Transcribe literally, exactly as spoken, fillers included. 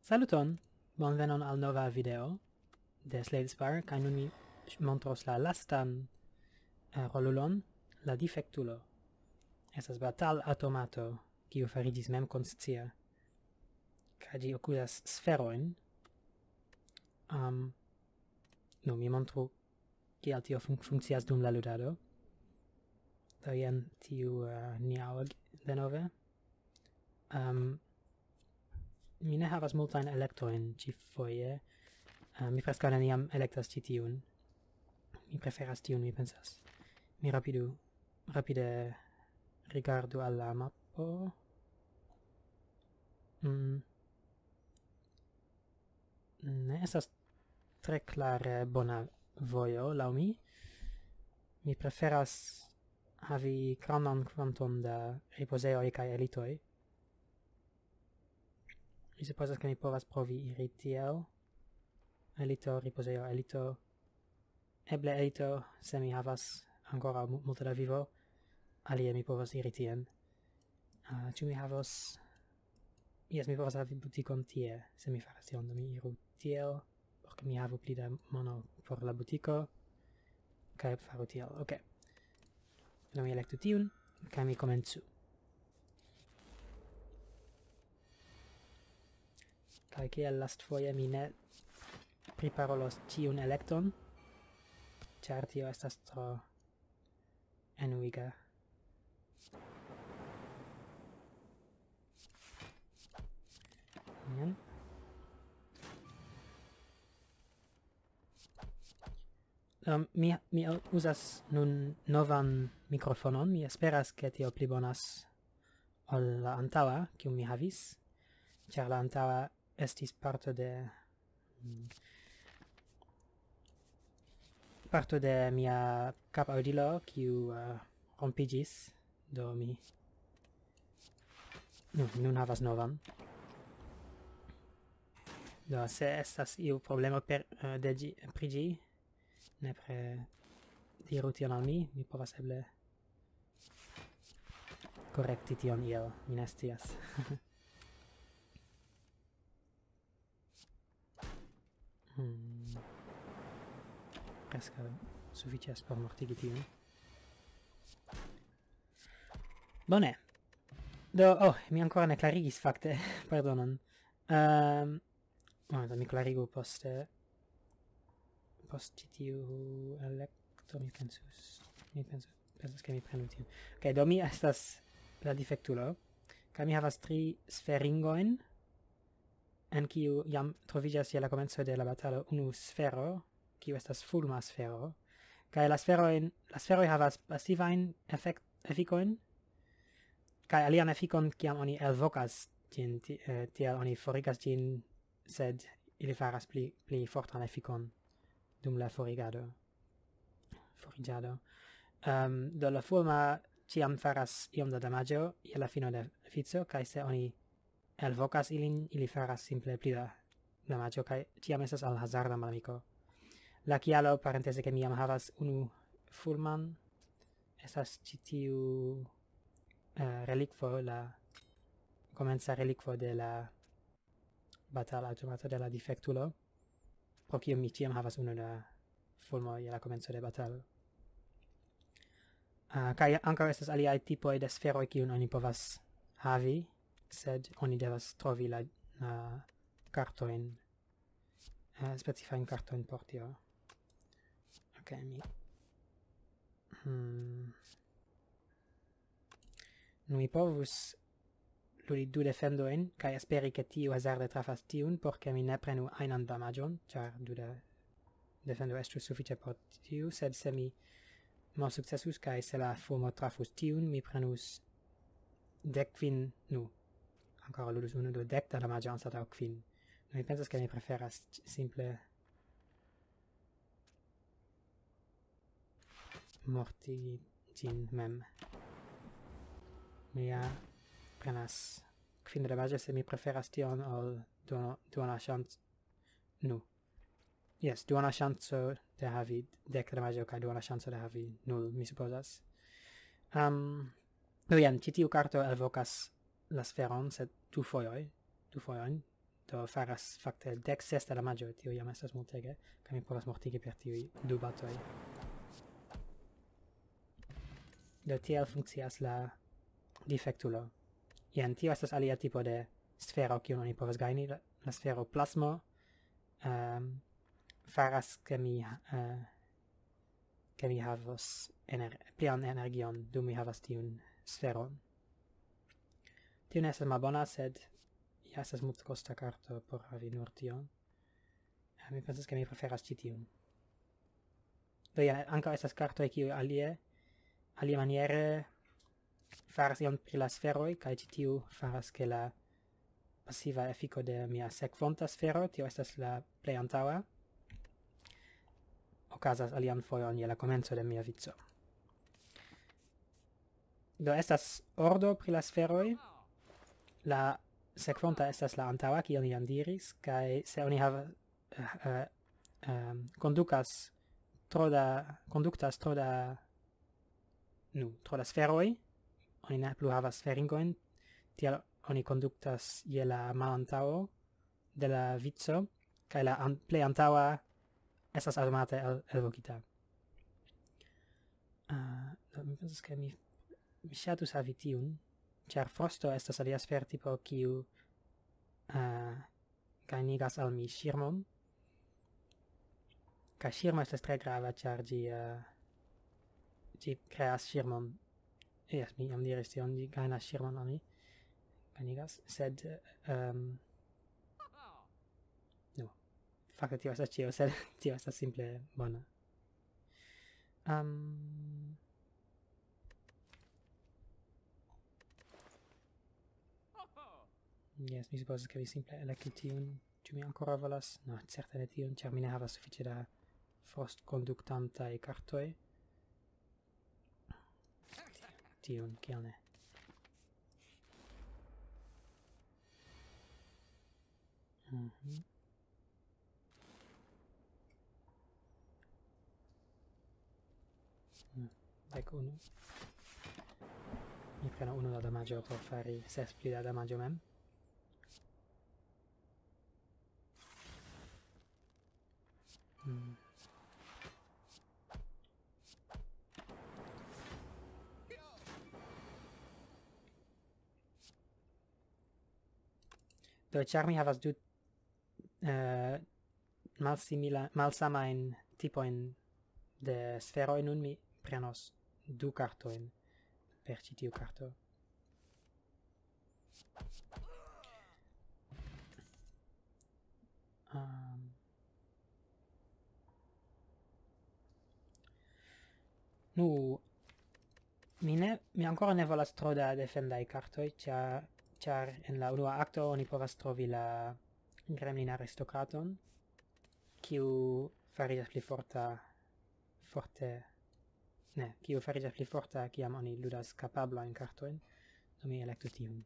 Saluton, bonvenon al nova video de Slade Spire, kaj nun mi montros la lastan, eh, rolulon, la difektulo. Estas batal-aŭtomato, kiu fariĝis memkonscia, kaj ĝi okuzas sferojn. Am, nu, mi montru, kiel tio fun-, funkcias dum la ludado. Do jen tiu, eh, Niaog denove. Am, mi ne havas multajn elektojn ĉifoje. Eh, mi preskaŭ neniam elektas ĉi tiun. Mi preferas tiun, mi pensas. Mi rapidu, rapide rigardu al la mapo. Mm. Ne estas tre klare bona vojo, laŭ mi. Mi preferas havi grandan kvanton da ripozejoj kaj elitoj. Mi supozas, ke mi povas provi iri tiel. Elito, ripozejo, elito. Eble elito, se mi havas ankoraŭ mu-, multe da vivo, alie mi povas iri tien. Ah, ĉu mi havos... Jes, mi povas havi butikon tie, se mi faras tion, do mi iru tiel, por ke mi havu pli da mono por la butiko, kaj faru tiel. Ok. Do mi elektu tiun, kaj mi komencu. Kaj kiel lastfoje mi ne priparolos ĉiun elekton, ĉar tio estas tro enuiga. Jen. Um, mi, mi uzas nun novan mikrofonon. Mi esperas, ke tio pli bonas ol la antaŭa, kiu mi havis, ĉar la antaŭa estis parto de, mm, parto de mia kapaŭdilo, kiu, eh, rompiĝis, do mi, nu, nun havas novan. Do, se estas iu problemo per, eh, de ĝi, pri ĝi, nepre diru tion al mi, mi povas eble korekti tion iel, mi ne scias. Hmm. Preskaŭ sufiĉas por mortigi tiun. Bone. Do, oh, mi ankoraŭ ne klarigis fakte. Pardonon. Ehm, momento, mi klarigu poste. Post ĉi tiu elekto, mi pensus. Mi pensus, pensas, ke mi prenu tiun. Ok, do mi estas la difektulo. Kaj mi havas tri sferingojn, en kiu jam troviĝas je la komenco de la batalo unu sfero, kiu estas fulma sfero. Kaj la sferojn, la sferoj havas pasivajn efekt-, efikojn, kaj alian efikon, kiam oni elvokas ĝin, ti-, eh, tiel oni forigas ĝin, sed ili faras pli, pli fortan efikon dum la forigado. Foriĝado. Ehm, do la fulma ĉiam faras iom da damaĝo je la fino de vico, kaj se oni elvokas ilin, ili faras simple pli da damaĝo, kaj ĉiam estas al hazarda malamiko. La kialo, parenteze, ke mi jam havas unu fulman, estas ĉi tiu, eh, relikvo, la komenca relikvo de la batal-aŭtomato de la difektulo, pro kiu mi ĉiam havas unu da fulmo je la komenco de batalo. Ah, kaj ankaŭ estas aliaj tipoj de sferoj, kiun oni povas havi, sed oni devas trovi la, la kartojn, eh, specifajn kartojn por tio. Ok, mi... Hmm. Nu, mi povus ludi du defendojn, kaj esperi, ke tiu hazarde trafas tiun, por ke mi ne prenu ajnan damaĝon, ĉar du de-, defendo estus sufiĉe por tiu, sed se mi malsukcesus, kaj se la fulmo trafus tiun, mi prenus dek kvin, nu, ankoraŭ ludus unu, do dek da damaĝo anstataŭ kvin. Nu, mi pensas, ke mi preferas ç-, simple mortigi ĝin mem. Mi ja prenas kvin damaĝo, se mi preferas tion ol duono-, duona ŝanc-, nu. Jes, duona ŝanco de havi dek damaĝo kaj duona ŝanco de havi nul, mi supozas. Am, do jen, ĉi tiu karto elvokas la sferon, sed du fojoj, du fojojn, do faras fakte dek ses da damaĝo, tio jam estas multege, kaj mi povas mortigi per tiuj du batoj. Do tiel funkcias la difektulo. Jen, tio estas alia tipo de sfero, kiun oni povas gajni, la, la sfero plasmo, ehm, faras ke mi, eh, ke mi havos ener-, plian energion, dum mi havas tiun sferon. Tio ne estas malbona, sed ja estas multkosta karto por havi nur tion. Eh, mi pensas, ke mi preferas ĉi tiun. Do ja, ankaŭ estas kartoj, kiuj alie, alie maniere faras ion pri la sferoj, kaj ĉi tiu faras, ke la pasiva efiko de mia sekvonta sfero, tio estas la plej antaŭa, okazas alian fojon je la komenco de mia vico. Do estas ordo pri la sferoj, la sekvonta estas la antaŭa, kion ni jam diris, kaj se oni havas, eh, eh, ehm, kondukas tro da, konduktas tro da, nu, tro da sferoj, oni ne plu havas sferingojn, tial oni konduktas je la malantaŭo de la vico, kaj la an-, plej antaŭa estas aŭtomate el-, elvokita. Ah, do mi pensas, ke mi, mi ŝatus havi tiun, ĉar frosto estas alia sfertipo, kiu, ah, gajnigas al mi ŝirmon. Kaj ŝirmo estas tre grava, ĉar ĝi, eh, ĝi kreas ŝirmon. Jes, mi jam diris tion, ĝi gajnas ŝirmon al mi. Gajnigas, sed, ehm, no. Fakte tio estas ĉio, sed tio estas simple bona. Ehm, jes, mi supozas, ke mi simple elektu tiun. Ĉu mi ankoraŭ volas? No, certe ne tiun, ĉar mi ne havas sufiĉe da frostkonduktantaj kartoj. Tiun, kial ne? Mhm. Hmm, dek unu. Mi prenu unu da damaĝo por fari ses pli da damaĝo mem. Hmm. Do, ĉar mi havas du, eh, malsimila-, malsamajn tipojn de sferoj, nun mi prenos du kartojn per ĉi tiu karto. Ehm. Nu, mi ne, mi ankoraŭ ne volas tro da defendaj kartoj, ĉa-, ĉar en la unua akto oni povas trovi la gremlin aristokraton, kiu fariĝas pli forta forte, ne, kiu fariĝas pli forta, kiam oni ludas kapablajn kartojn, do mi elektu tiun.